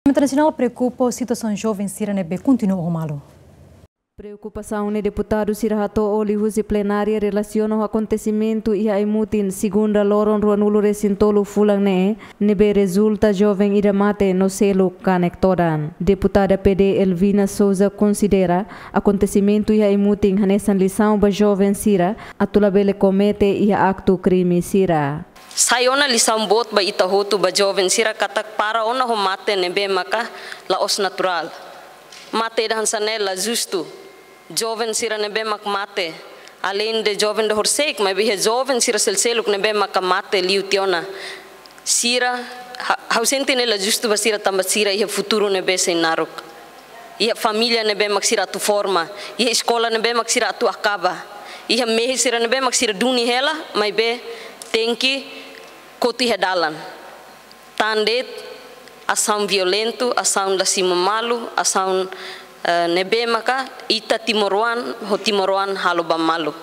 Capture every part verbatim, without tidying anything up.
Parlamentu Nasionál preokupa situasaun joven sira ne'ebé kontinua ho malu. Preokupasaun ne'e deputadu sira hato'o liuhusi plenária relasiona ho akontesimentu iha Aimutin, segunda loron ruanulu resin tolu fulan ne'e, ne'ebé rezulta joven ida mate no seluk kanek todan. Deputada P D Elvina Sousa konsidera akontesimentu iha Aimutin hanesan lisaun ba joven sira atu labele komete iha aktu krime sira. Sai ona lisaun boot ba ita hotu, ba joven sira katak para ona ho mate ne'ebé maka la'ós naturál. Mate ida hanesan ne'e la justu. Joven sira ne'ebé mak mate, além de joven ida horisehik, maibé iha joven sira sel-seluk ne'ebé maka mate liu tiha ona. Sira, ha-, ha'u sente ne'e la justu ba sira tanba sira iha futuru ne'ebé sei naruk. Iha família ne'ebé mak sira atu forma, iha eskola ne'ebé mak sira atu akaba, iha mehi sira ne'ebé mak sira duni hela, maibé tenke kotu iha dalan. Tan de'it asaun violentu, asaun la simu malu, asaun, eh, ne'ebé maka ita timoroan ho timoroan halo ba malu.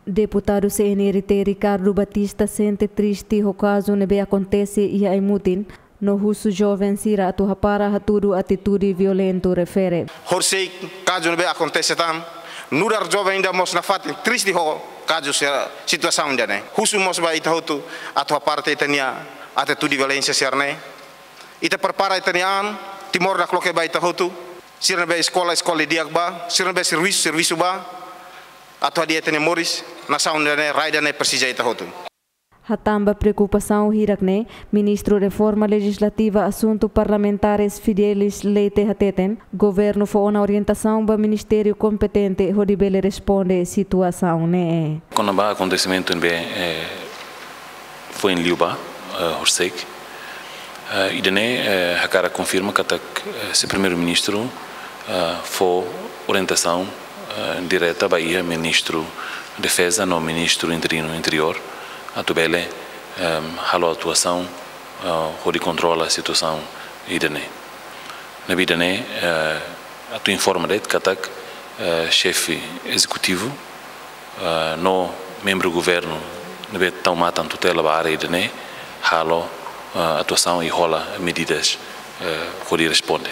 Deputadu C N R T Ricardo Batista sente triste ho kazu ne'ebé akontese iha Aimutin, no husu joven sira atu hapara hatudu atitude violentu refere. Horisehik kazu ne'ebé akontese tan, nu'udar joven ida mós nafatin triste ho kazu sira, situasaun ida-ne'e. Husu mós ba ita hotu atu hapara tiha ita-nia atitude violénsia sira-ne'e. Ita prepara ita-nia an, Timor nakloke ba ita hotu. Sira ne'ebé eskola, eskola di'ak bá, sira ne'ebé servisu, servisu bá. Atu hadi'a ita-nia moris, nasaun ida-ne'e, rai ida-ne'e presiza ita hotu. Hatán ba preokupasaun hirak-ne'e, Ministru Reforma Lejislativa Asuntu Parlamentares Fidelis Leite hateten, governu fó ona orientasaun ba ministériu kompetente hodi bele responde situasaun ne'e. Kona-ba akontesimentu ne'ebé, eh, foin liubá, eh, horisehik, eh, ida-ne'e, eh, hakarak konfirma katak, eh, Señór Primeiru-Ministru, eh, fó orientasaun, eh, direta ba iha Ministru Defeza no Ministru Interinu Interiór, atu bele, ehm, halo atuasaun, eh, hodi kontrola situasaun ida-ne'e. Ne'ebé ida-ne'e, eh, atu informa de'it katak, eh, xefe ezekutivu, eh, no membru governu ne'ebé tau matan tutela ba área ida-ne'e, halo, eh, atuasaun i hola medidas, eh, hodi responde.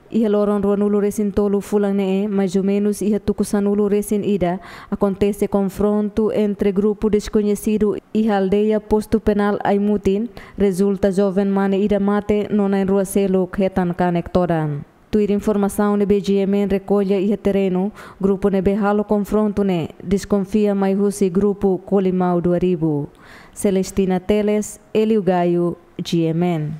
Iha loron ruanulu resin tolu fulan ne'e, mais ou menus iha tuku sanulu resin ida, akontese konfrontu entre grupu deskoñesidu iha aldeia Postu Penál Aimutin, rezulta joven mane ida mate no na'in rua seluk hetan kanek todan. Tuir informasaun ne'ebé G M N rekolla iha terrenu, grupu ne'ebé halo konfrontu ne'e deskonfia mai husi grupu Kolimau Dua Ribu. Celestina Teles, Elio Gaio, G M N.